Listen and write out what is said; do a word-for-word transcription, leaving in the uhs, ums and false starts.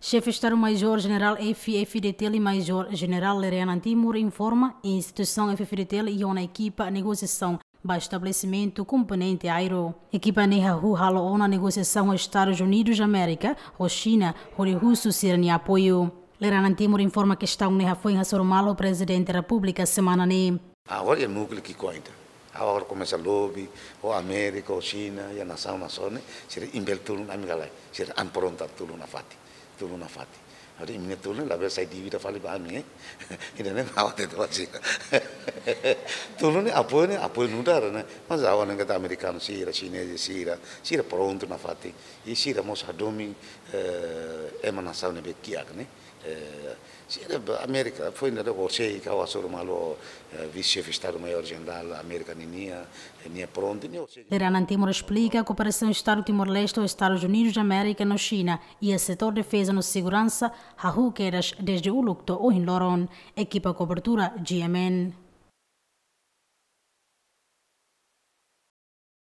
Xefe Estadu Maior Jenerál F-FDTL, Maior Jenerál Lere Anan Timur informa, instituisaun F-FDTL iha ona ekipa negosiasaun ba estabelesimentu komponente Aero. Ekipa ne'e hahú halo ona negosiasaun ho Estadus Unidus Amérika, ho Xina, hodi husu sira-nia apoiu. Lere Anan Timur informa kestaun ne'e hafoin hasoru malu Prezidente Repúblika semana ne'e. Agora iha núkleu ki'ikoan ida. Agora komesa lobby, ho Amérika, ho Xina, iha nasaun-nasaun ne'e, sira impel tulun ami ka lae, sira apronta tulun nafatin, tulun nafatin. Agora imi-nia tulun labele sai dívida fali ba ami, eh? Ida-ne'e ha'u hatete ba sira. Tulun ne'e apoiu ne'e, apoiu nu'udar ne'e. Mas agora ne'e katak amerikanu sira, xinez sira, sira prontu nafatin. I sira mós hadomi, eh, ema nasaun ne'ebé kiak ne'e. Eh, sira ba Amérika, foin dadauk horiseik ha'u hasoru malu, eh, Vise-Xefe Estadu Maior Jenerál Amérika ninia, eh, nia prontu, nia horiseik. Lere Anan Timur esplika kooperasaun Estadu Timor-Leste ho Estadus Unidus Amérika no Xina iha setór defeza no seguransa hahú kedas dezde uluk to'o ohin loron. Ekipa kobertura, G M N.